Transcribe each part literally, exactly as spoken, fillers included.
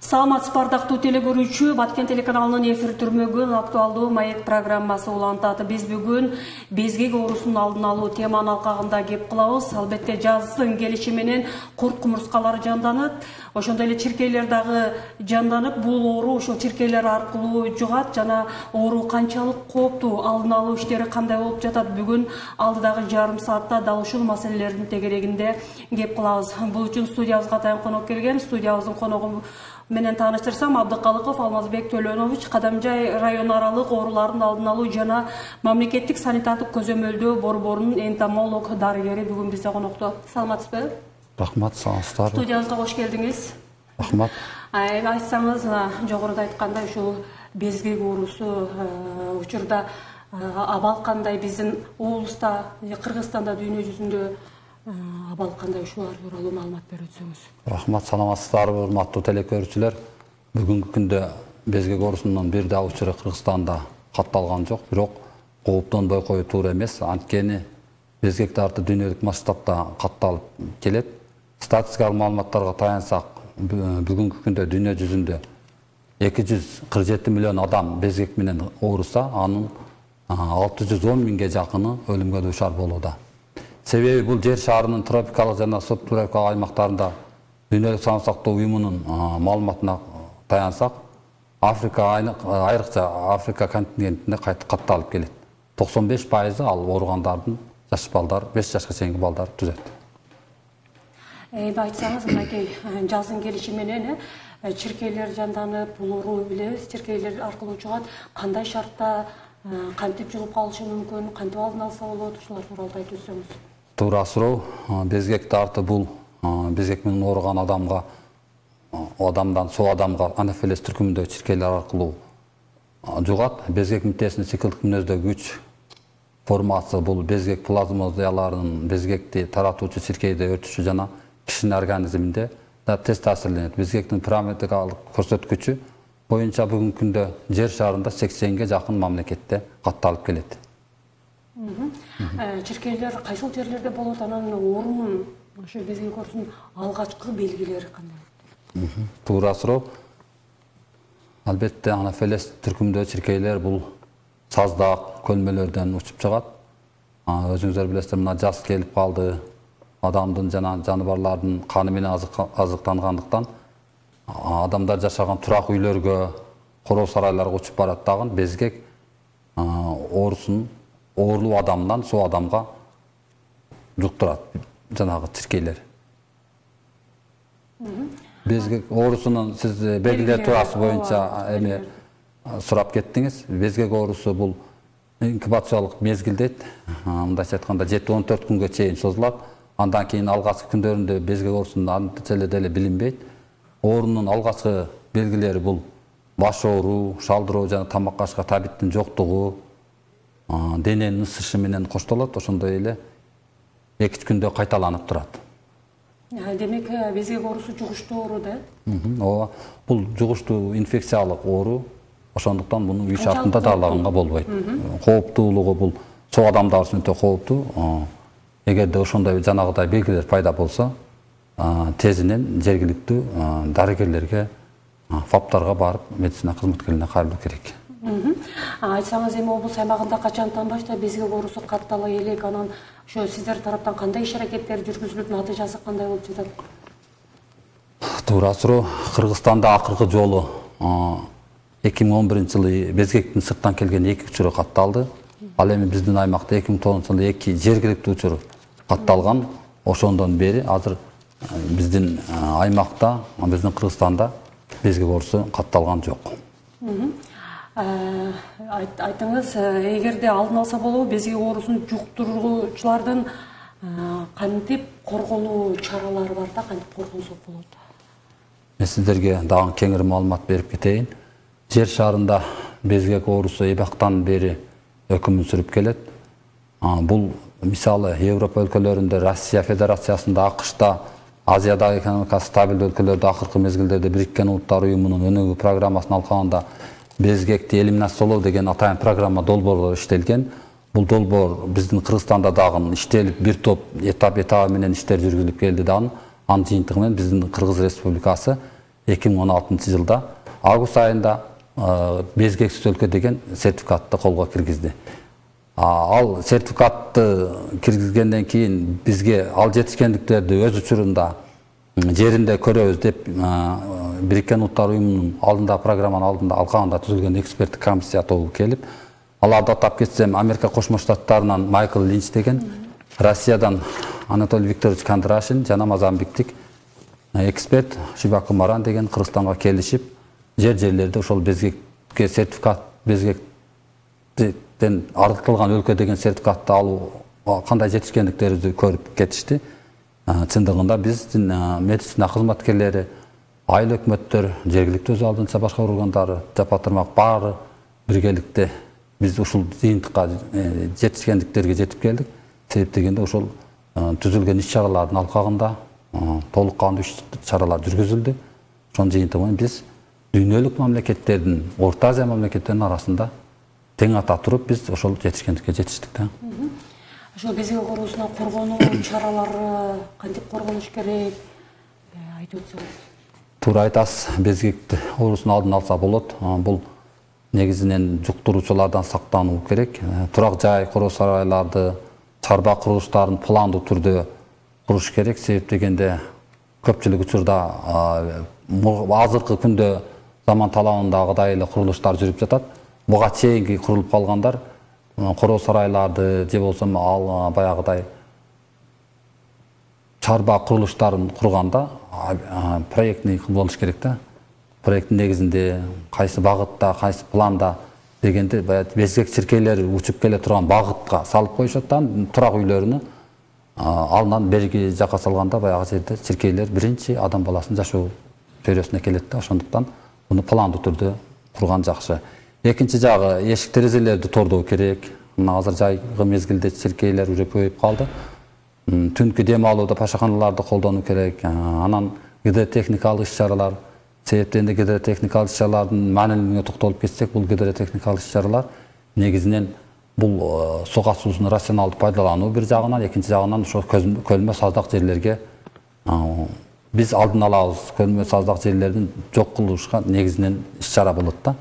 Саламатсыз бардактуу телекөрүүчү, Баткен телеканалынын эфир түрмөгүн актуалдуу маек программасы улантат. Биз бүгүн безгек оорусунун алдын алуу теманын алкагында кеп кылабыз. Албетте жаздын келиши менен курт кумурскалар жанданат. Ошондой эле чиркейлер дагы жанданып, бул оору ошол чиркейлер аркылуу жугат жана оору канчалык кооптуу, алдын алуу иштери кандай болуп жатат? Бүгүн алдыдагы жарым саатта дал ушул маселелердин тегерегинде кеп кылабыз. Бул үчүн студиябызга атайын конок келген. Студиябыздын коногу менен тааныштырсам, Абдыкалыков Алмазбек Төлөнович Кадамжай район аралык оорулардын алдын алуу жана мамлекеттик санитардык көзөмөлдөө борборунун энтомолог дарыгери бүгүн бизде конокто. Саламатсызбы? Рахмат, саламатсыздар. Студиябызга кош келдиңиз. Рахмат. Айтсаңыз, жогоруда айткандай, ушул безгек оорусу учурда абал кандай, биздин облуста, Кыргызстанда, дүйнө жүзүндө абал кандай, ушулар тууралуу маалымат берип өтсөңүз. Рахмат, саламатсыздар, урматтуу телекөрүүчүлөр. Бүгүнкү күндө безгек оорусунун бир да учуру Кыргызстанда катталган жок, бирок кооптонбой кою туура эмес. Анткени безгек дарты дүйнөлүк масштабта катталып келет. Статистикалык маалыматтарга таянсак, бүгүнкү күндө дүйнө жүзүндө эки жүз кырк жети миллион адам безгек менен ооруса, анын алты жүз он миңге жакыны өлүмгө дуушар болууда. Себеби бул жер шарынын тропикалык жана субтропикалык аймактарында дүйнөлүк саамык сактоо уюмунун маалыматына таянсак, Африка айрыкча Африка континентинде катталып келет. токсон беш пайызы ал ооругандардын жаш балдар, беш жашка чейинки балдар түзөт. Эми айтсаңыз, мынакей жаздын келиши менен чиркейлер жанданып, бул оору билебиз, чиркейлер аркылуу жугат. Кандай шартта кантип жугуп калышы мүмкүн, кантип алдын алса болот, ушулар тууралуу айтып өтсөңүз. Туура суроо. Безгек дарты бул безгек менен ооруган адамга, адамдан соо адамга анафилез түркүмүндө чиркейлер аркылуу жугат. Безгек митесинин циклдик мүнөздөгү күч формасы бул безгек плазмозияларынын безгекти таратуучу чиркейде өтүшү жана кишинин организминде да тез таасирленет. Безгектин параметрикалык көрсөткүчү боюнча бүгүнкү күндө жер шарында сексенге жакын мамлекетте катталып келет. Чиркейлер кайсыл жерлерде болот, анан оорунун, ошо безгек оорусунун алгачкы белгилери кандай? Туура суроо. Албетте анафилез түркүмдө чиркейлер бул саздак көлмөлөрдөн учуп чыгат. Өзүңүздөр билесиздер, мына жаз келип калды. Адамдын жана жаныбарлардын каны менен азыктангандыктан адамдар жашаган турак үйлөргө, короо сарайларга учуп барат дагы безгек оорусун оорулуу адамдан соо адамга жуктурат жанагы чиркейлер. Безгек оорусунун сиз белгилери туурасы боюнча эми сурап кеттиңиз. Безгек оорусу бул инкубациялык мезгил дейт. Мындайча айтканда жети он төрт күнгө чейин созулат. Андан кийин алгачкы күндөрүндө безгек оорусунун античеле деле билинбейт. Оорунун алгачкы белгилери бул баш ооруу, шалдыроо жана тамак ашка табиттин жоктугу, дененин ысышы менен коштолот. Ошондой эле эки үч күндө кайталанып турат. Демек, безгек оорусу жугуштуу оору да? Ооба, бул жугуштуу инфекциялык оору. Ошондуктан муну үй шартында даалаганга болбойт. Кооптуулугу бул соо адамдар үчүн өтө кооптуу. Эгерде ошондой жанагыдай белгилер пайда болсо, тезинен жергиликтүү дарыгерлерге, фаптарга барып, медицина кызматкерлерине кайрылуу керек. Айтсаңыз, эми облус аймагында качантан баштап безгек оорусу каттала элек, анан ошо сиздер тараптан кандай иш-аракеттер жүргүзүлүп, натыйжасы кандай болуп жатат? Туура суроо. Кыргызстанда акыркы жолу эки миң он биринчи жылы безгектин сырттан келген эки учуру катталды. Ал эми биздин аймакта эки миң тогузунчу жылы эки жергиликтүү учур катталган. Ошондон бери азыр биздин аймакта, биздин Кыргызстанда безгек оорусу катталган жок. Айтыңыз, эгерде алдын алса болобу, безгек оорусун жуктуруучулардан кантип коргонуу чаралары бар да, кантип коргонсок болот? Мен сиздерге дагы кеңири маалымат берип кетейин. Жер шарында безгек оорусу эбактан бери өкүмүн сүрүп келет. Бул мисалы Европа өлкөлөрүндө, Россия Федерациясында, АКШта, Азиядагы экономикасы стабилдүү өлкөлөрдө акыркы мезгилдерде Бириккен Улуттар уюмунун өнүгүү программасынын алкагында безгекти элиминациялоо деген атайын программа долбоорлор иштелген. Бул долбоор биздин Кыргызстанда дагы иштелип, бир топ этап этабы менен иштер жүргүзүлүп келди дагы. Анын жыйынтыгы менен биздин Кыргыз Республикасы эки миң он алтынчы жылда август айында безгексиз өлкө деген сертификатты колго киргизди. Ал сертификатты киргизгенден кийин бизге ал жетишкендиктерди өз учурунда жеринде көрөбүз деп Бириккен Улуттар Уюмунун алдында программанын алдында алкагында түзүлгөн эксперттик комиссия тобу келип, аларды атап кетсем, Америка Кошмо Штаттарынан Майкл Линч деген, Россиядан Анатолий Викторович Кондрашин жана Мозамбиктик эксперт Шибаку Маран деген Кыргызстанга келишип, жер-жерлерде ошол безгекке сертификат, безгектен артылган өлкө деген сертификатты алуу кандай жетишкендиктерибизди көрүп кетишти. Чындыгында биздин медицина кызматкерлери, айыл өкмөттөр, жергиликтүү өз алдынча башкаруу органдары, жапа тармак баары биргеликте биз ушул жыйынтыкка жетишкендиктерге жетип келдик. Себеп дегенде ошол түзүлгөн иш-чаралардын алкагында толук кандуу иш-чаралар жүргүзүлдү. Ошонун жыйынтыгы менен биз дүйнөлүк мамлекеттердин, Орто Азия мамлекеттеринин арасында тең ата туруп биз ошол жетишкендикке жетиштик да. Ошол безгек оорусуна коргонуу чаралары кантип коргонуш керек? Айтып өтсөңүз. Туура айтасыз, безгек оорусунун алдын алса болот. Бул негизинен жуктуруучулардан сактануу керек. Турак жай, короо сарайларды, чарба курулуштарын пландуу түрдө куруш керек. Себеп дегенде көпчүлүк учурда азыркы күндө заман талабындагыдай эле курулуштар жүрүп жатат. Буга чейинки курулуп калгандар короо сарайларды же болсо ал баягыдай чарба курулуштарын курганда проектный болуш керек да. Проекттин негизинде кайсы багытта, кайсы планда дегенде безгек чиркейлери учуп келе турган багытка салып коюшат да, турак үйлөрүнү алынан берги жака салганда баягы жерде чиркейлер биринчи адам баласынын жашоо чөйрөсүнө келет да. Ошондуктан муну пландуу түрдө курган жакшы. Экинчи жагы эшик терезелерди тордоо керек. Мына азыр жайгы мезгилде чиркейлер уже көбөйүп калды. Түнкү дем алууда пашаканаларды колдонуу керек. Анан гидротехникалык иш-чаралар, себептен гидротехникалык иш-чаралардын маанилүүлүгүнө токтолуп кетсек, бул гидротехникалык иш-чаралар негизинен бул суга суусун рационалдуу пайдалануу бир жагынан, экинчи жагынан ошо көлмө саздак жерлерге биз алдын алабыз. Көлмө саздак жерлердин жок кылышка негизинен иш-чара болот да.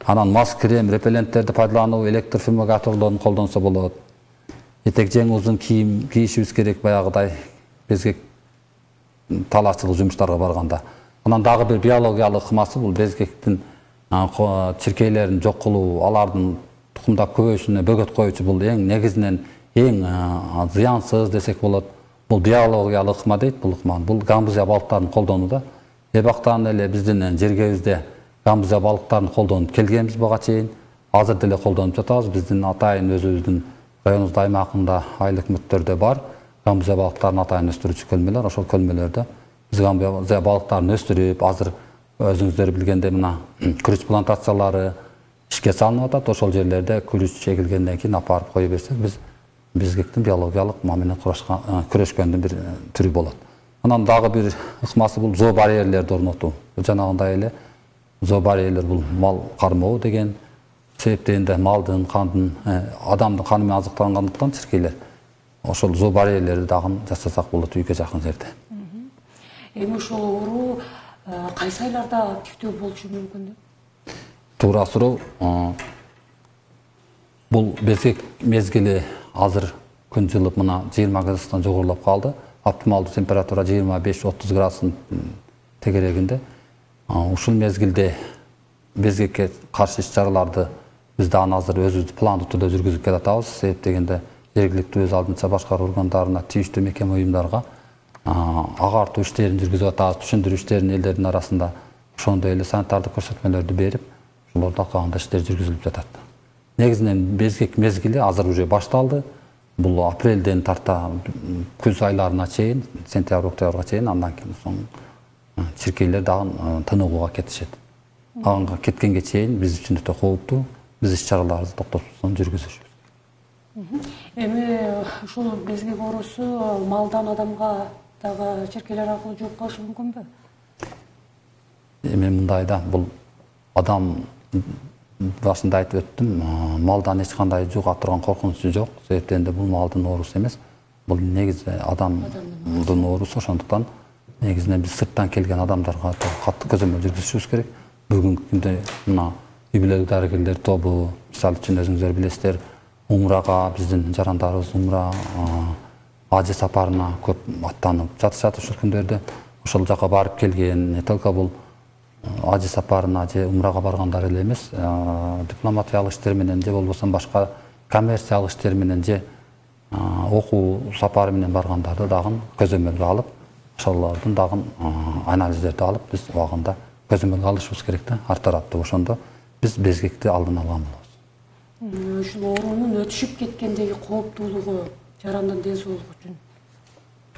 Анан мас крем, репелленттерди пайдалануу, электр фумигаторлорун колдонсо болот. Этек жең узун кийим кийишибиз керек баягыдай безгек талаачылык жумуштарга барганда. Анан дагы бир биологиялык ыкмасы бул безгектин чиркейлерин жок кылуу, алардын тукумдап көбөйүшүнө бөгөт коюучу бул эң негизинен эң зыянсыз десек болот. Бул биологиялык ыкма дейт бул ыкма. Бул гамбузия балыктарын колдонууда. Эбактан эле биздин жергебизде гамбузия балыктарын колдонуп келгенбиз буга чейин. Азыр деле колдонуп жатабыз. Биздин атайын өзүбүздүн районубуздун аймагында айыл өкмөттөрдө бар гамбузия балыктарын атайын өстүрүүчү көлмөлөр. Ошол көлмөлөрдө биз гамбузия балыктарын өстүрүп, азыр өзүңүздөр билгендей мына күрүч плантациялары ишке салынып атат. Ошол жерлерде күрүч чегилгенден кийин апарып кое берсек, биз безгектин биологиялык ыкма менен күрөшкөндүн бир түрү болот. Анан дагы бир ыкмасы бул зообарьерлерди орнотуу. Жанагындай эле зообарьерлер бул мал кармоо деген себептенде малдын, кандын, адамдын каны менен азыкталгандыктан чиркейлер. Ошол зообарьерлерди дагы жасасак болот үйгө жакын жерде. Эми ошол оору кайсы айларда активдүү болушу мүмкүн? Туура суроо. Бул безгек мезгили азыр күн жылып мына жыйырма градустан жогорулап калды. Оптималдуу температура жыйырма беш отуз градустун тегерегинде. Ушул мезгилде безгекке каршы иш-чараларды биз дагы азыр өзүбүз пландуу түрдө жүргүзүп келатабыз. Себеп дегенде жергиликтүү өз алдынча башкаруу органдарына, тийиштүү мекеме уюмдарга агартуу иштерин жүргүзүп атабыз, түшүндүрүү иштерин элдердин арасында, ошондой эле санитардык көрсөтмөлөрдү берип, ошолорду алкагында иштер жүргүзүлүп жатат. Негизинен безгек мезгили азыр уже башталды. Бул апрелден тарта күз айларына чейин, сентябрь, октябрга чейин, андан кийин соң чиркейлер дагы тыныгууга кетишет. Ага кеткенге чейин биз үчүн өтө кооптуу. Биз иш-чараларды токтотуп жүргүзүшүбүз. Эми ушул безгек оорусу малдан адамга дагы чиркейлер аркылуу жугуп калышы мүмкүнбү? Эми мындай да, бул адам башында айтып өттүм, малдан эч кандай жуга турган коркунучу жок. Себептен бул малдын оорусу эмес, бул негизи адамдын оорусу. Ошондуктан негизинен биз сырттан келген адамдарга катты көзөмөл жүргүзүшүбүз керек. Бүгүнкү күндө мына үй бүлөлүк дарыгерлер тобу, мисалы үчүн өзүңүздөр билесиздер, умрага биздин жарандарыбыз умра ажы сапарына көп аттанып жатышат ушул күндөрдө. Ошол жака барып келген, не только бул ажы сапарына же умрага баргандар эле эмес, дипломатиялык иштер менен же болбосо башка коммерциялык иштер менен же окуу сапары менен баргандарды дагы көзөмөлгө алып, ошолордун дагы анализдерди алып, биз убагында көзөмөлгө алышыбыз керек да, ар тараптуу. Ошондо биз безгекти алдын алган болобуз. Ушул оорунун өтүшүп кеткендеги кооптуулугу жарандын ден соолугу үчүн?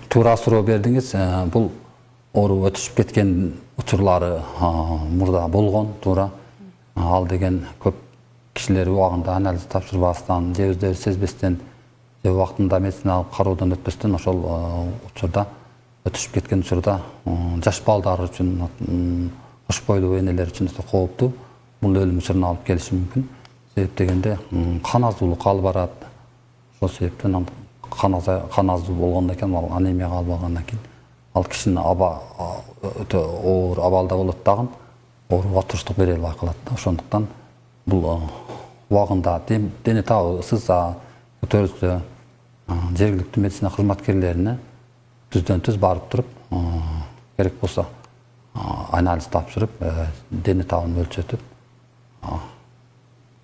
Туура суроо бердиңиз. Бул оору өтүшүп кеткен учурлары мурда болгон, туура. Ал деген көп кишилер убагында анализ тапшырбастан, же өздөрү сезбестен, же убактында медициналык кароодон өтпөстөн ошол учурда өтүшүп кеткен учурда жаш балдар үчүн, кош бойлуу энелер үчүн өтө кооптуу. Бул өлүм учуруна алып келиши мүмкүн. Себеп дегенде кан азуулук алып барат. Ошол себептен кан аздуу болгондон кийин, ал анемияга алып алгандан кийин, ал кишинин аба өтө оор абалда болот дагы, ооруга туруштук бере албай калат да. Ошондуктан бул убагында дене табы сызса, көтөрүлсө, жергиликтүү медицина кызматкерлерине түздөн түз барып туруп, керек болсо анализ тапшырып, дене табын өлчөтүп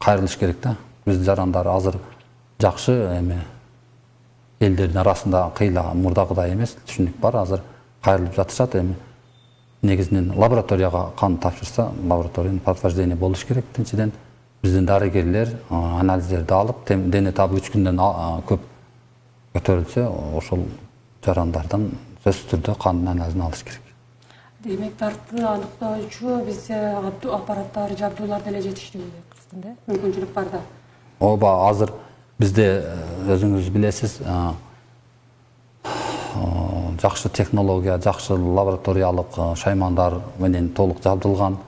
кайрылыш керек да. Биздин жарандар азыр жакшы, эми элдердин арасында кыйла мурдагыдай эмес, түшүнүк бар, азыр кайрылып жатышат. Эми негизинен лабораторияга кан тапшырса, лабораториянын подтверждение болуш керек. Экинчиден биздин дарыгерлер анализдерди алып, дене табы үч күндөн көп көтөрүлсө, ошол жарандардан сөзсүз түрдө кандын анализин алыш керек. Демек, дартты аныктоочу бизде аппараттар, жабдуулар деле жетиштүү да? Мүмкүнчүлүк бар да? Ооба, азыр бизде өзүңүз билесиз, жакшы технология, жакшы лабораториялык шаймандар менен толук жабдылган.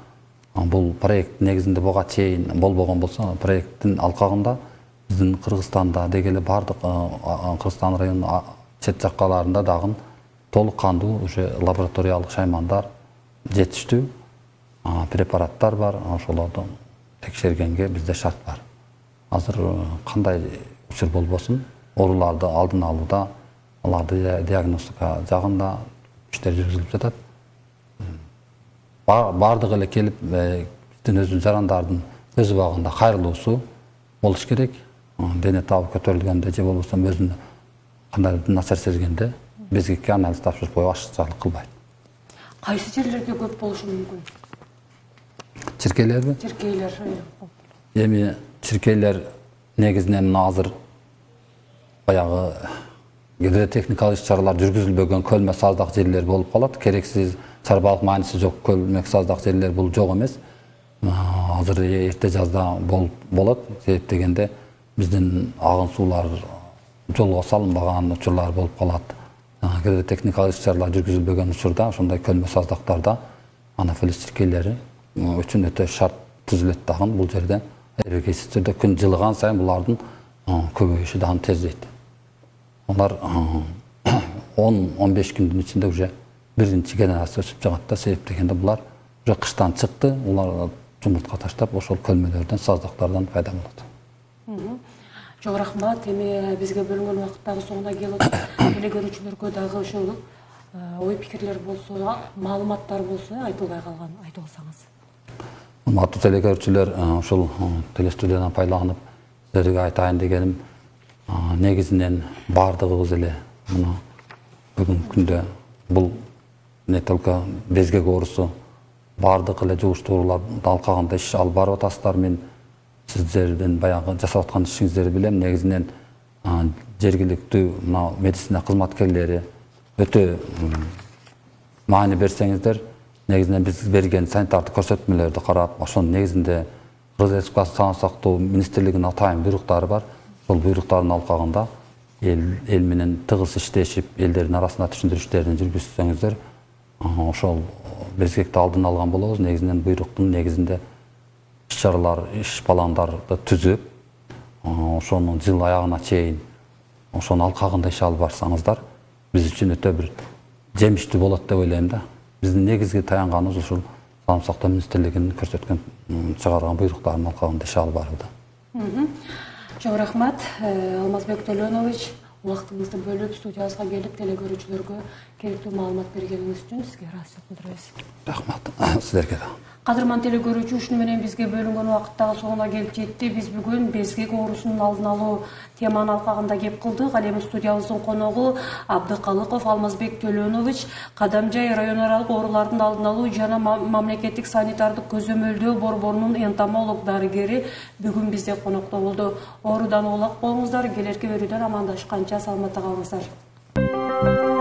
Бул проект негизинде буга чейин болбогон болсо, проекттин алкагында биздин Кыргызстанда дегеле бардык Кыргызстан районунун чет жаккаларында дагы толук кандуу уже лабораториялык шаймандар жетиштүү, препараттар бар. Ошолорду текшергенге бизде шарт бар. Азыр кандай учур болбосун, ооруларды алдын алууда, аларды диагностика жагында иштер жүргүзүлүп жатат. Бардыгы эле келип, биздин өзүнүн жарандардын өз убагында кайрылуусу болуш керек. Дене табы көтөрүлгөндө же болбосо өзүн кандайдыр начар сезгенде безгекке анализ тапшырып коюп ашыкчалык кылбайт. Кайсы жерлерде көп болушу мүмкүн? Чиркейлерби? Чиркейлер. Эми чиркейлер негизинен азыр баягы гидротехникалык иш-чаралар жүргүзүлбөгөн көлмө саздак жерлер болуп калат. Керексиз, чарбалык мааниси жок көлмө саздак жерлер бул жок эмес. Азыр эрте жазда болот. Себеп дегенде биздин агын суулар жолго салынбаган учурлар болуп калат. Гидротехникалык иш-чаралар жүргүзүлбөгөн учурда ошондой көлмө саздактарда анафилис чиркейлери үчүн өтө шарт түзүлөт дагы. Бул жерде эркексиз түрдө күн жылыган сайын булардын көбөйүшү дагы тездейт. Алар он он беш күндүн ичинде уже биринчи генерация өсүп чыгат да. Себеп дегенде булар уже кыштан чыкты, улар жумуртка таштап ошол көлмөлөрдөн, саздактардан пайда болот. Чоң рахмат. Эми бизге бөлүнгөн убакыттагы соңуна келип, эле көрүүчүлөргө дагы ошол ой пикирлер болсо, маалыматтар болсо айтылбай калган айтып алсаңыз. Урматтуу телекөрүүчүлөр, ушул телестудиядан пайдаланып силерге айтайын дегеним, негизинен бардыгыбыз эле мына бүгүнкү күндө бул не только безгек оорусу, бардык эле жугуштуу ооруларды алкагында иш алып барып атасыздар. Мен сиздердин баягы жасап аткан ишиңиздерди билем. Негизинен жергиликтүү мына медицина кызматкерлери өтө маани берсеңиздер, негизинен биз берген санитардык көрсөтмөлөрдү карап, ошонун негизинде Кыргыз Республикасы Сагынчы сактоо министрлигинин атайын буйруктары бар. Ошол буйруктардын алкагында эл менен тыгыз иштешип, элдердин арасында түшүндүрүү иштерин жүргүзсөңүздөр, ошол безгекти алдын алган болобуз. Негизинен буйруктун негизинде иш-чаралар, иш пландарды түзүп, ошонун жыл аягына чейин ошонун алкагында иш алып барсаңыздар, биз үчүн өтө бир жемиштүү болот деп ойлойм да. Биздин негизги таянганыбыз ушул саламат сактоо министрлигинин көрсөткөн чыгарган буйруктарынын алкагында иш алып барууда. Чоң рахмат, Алмазбек Төлөнович, убактыңызды бөлүп студиябызга келип телекөрүүчүлөргө керектүү маалымат бергениңиз үчүн сизге ыраазычылык билдиребиз. Рахмат силерге да. Кадырман телекөрүүчү, ушуну менен бизге бөлүнгөн убакыт дагы соңуна келип жетти. Биз бүгүн безгек оорусунун алдын алуу теманын алкагында кеп кылдык. Ал эми студиябыздын коногу Абдыкалыков Алмазбек Төлөнович, Кадамжай район аралык оорулардын алдын алуу жана мамлекеттик санитардык көзөмөлдөө борборунун энтомолог дарыгери бүгүн бизде конокто болду. Оорудан улак болуңуздар, келерки өрүүдөн амандашканча саламатта калыңыздар.